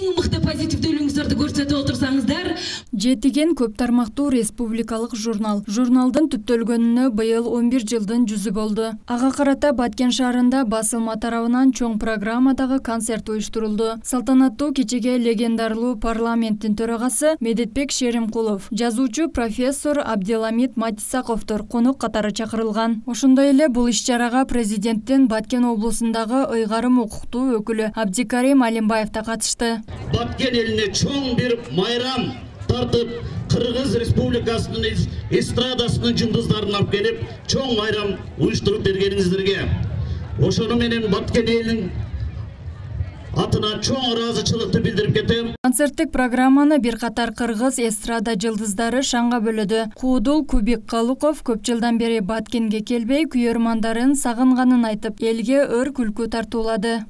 эң мыкты позитивдүүлүгүңүздөрдү көрсөтүп отурсаңыздар. Жетиген көп тармактуу республикалык журнал. Журналдын түптөлгөнүнө быйыл 11 жылдын жүзү болду. Ага карата Баткен шаарында басылма тарабынан чоң программадагы концерт уюштурулду. Салтанаттуу кечеге легендарлуу парламенттин төрагасы Медетбек Шеримкулов, жазуучу профессор Абделамит Матисаковдор конок катары чакырылган. Ошондой эле бул иш-чарага президенттин Баткен облусундагы ыйгарым укуктуу өкүлү Абдикарим Алимбаев да катышты. Баткен элине чоң бир майрам тартып, Кыргыз Республикасынын эстрадасынын жулдуздарын алып келип, чоң майрам уюштуруп бергениңиздерге ошону менен Баткен элинин атынан чоң ыраазычылыкты билдирип кетем. Концерттик программаны бир катар кыргыз эстрада жылдыздары шаңга бөлөдү. Куудул Кубик Калуков көп жылдан бери Баткенге келбей, күйөрмандарын сагынганын айтып, элге өр күлкү тартуулады.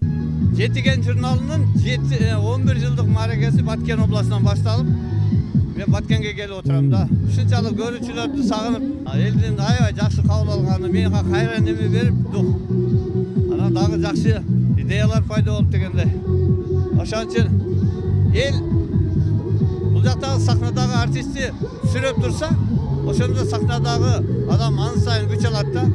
Жетиген журналынын 11 жылдык мааракеси Баткен областынан башталып, мен Баткенге келип отурам да. Ушунчалык көрүүчүлөрдү сагынып, элдин аябай жакшы кабыл алганы мага кайра неме берип, анан дагы жакшы идеялар пайда болуп дегенде. Ошон үчүн эл бул жактагы сахнадагы артистти сүрөп турса, ошондо сахнадагы адам аны сайын күч алат да.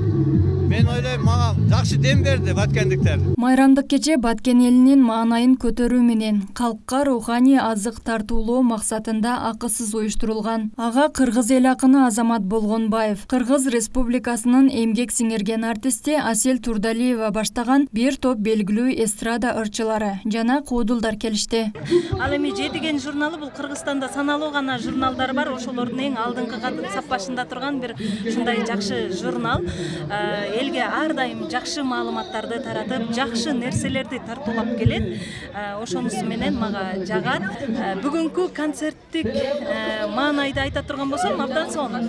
Мен ойлойм, мага жакшы дем берди баткендиктер. Майрамдык кече Баткен элинин маанайын көтөрүү менен калкка руханий азык тартуулоо максатында акысыз уюштурулган. Ага кыргыз эл акыны Азамат Болгонбаев, Кыргыз Республикасынын эмгек сиңирген артисти Асель Турдалиева баштаган бир топ белгилүү эстрада ырчылары жана куудулдар келишти. Ал эми Жетиген журналы бул Кыргызстанда саналуу гана журналдар бар, ошолордун эң алдыңкы саппашында турган бир ушундай жакшы журнал. Элге ар дайым жакшы маалыматтарды таратып, жакшы нерселерди тартуулап келет. Ошонусу менен мага жагат. Бүгүнкү концерттик маанайды айта турган болсом, абдан сонун.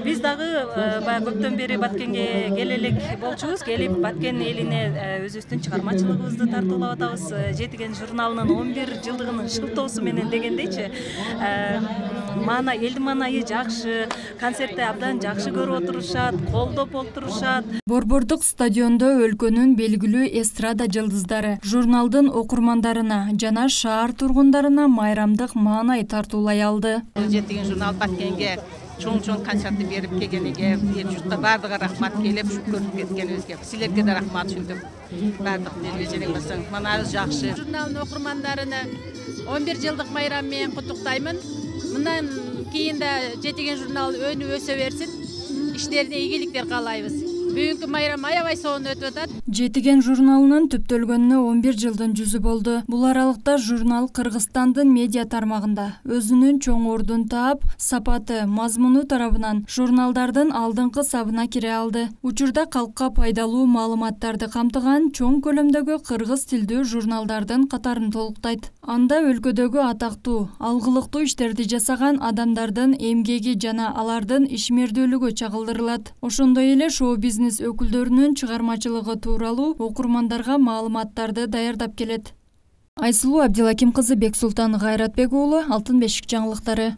Биз дагы баягы көптөн бери Баткенге келелек болчубуз. Келип Баткен элине өзүбүздүн чыгармачылыгыбызды тартуулап атабыз. Жетиген журналынын 11 жылдыгынын шылтоосу менен дегендейчи. Элдин маанайы жакшы, концертти абдан жакшы көрүп отурушат, колдоп отурушат. Борбордук стадиондо өлкөнүн белгилүү эстрада жылдыздары журналдын окурмандарына жана шаар тургундарына майрамдык маанай тартуулай алды. Жетиген журнал Баткенге чоң концертти берип келгениге, эл журтта бардыгы рахмат келип, көрүп кеткенибизге. Силерге да рахмат түндүк. Бардык телевизиялык болсоң, маанайыбыз жакшы. Журналдын окурмандарына 11 жылдык майрам менен куттуктаймын. Мындан кийин да Жетиген журнал өнүп өсө берсин. Иштерине ийгиликтер каалайбыз. Бүгүнкү майрам аябай сонун өтүп атат. Жетиген журналынын түптөлгөнүнө 11 жылдын жүзү болду. Бул аралыкта журнал Кыргызстандын медиа тармагында өзүнүн чоң ордун таап, сапаты, мазмуну тарабынан журналдардын алдыңкы сабына кире алды. Учурда калкка пайдалуу маалыматтарды камтыган чоң көлөмдөгү кыргыз тилдүү журналдардын катарын толуктайт. Анда өлкөдөгү атактуу, алгылыктуу иштерди жасаган адамдардын эмгеги жана алардын ишмердүүлүгү чагылдырылат. Ошондой эле шоу-бизнес өкүлдөрүнүн чыгармачылыгы тууралуу окурмандарга маалыматтарды даярдап келет. Айсулуу Абдилаким кызы, Бексултан Гайратбек уулу, Алтын бешик жаңылыктары.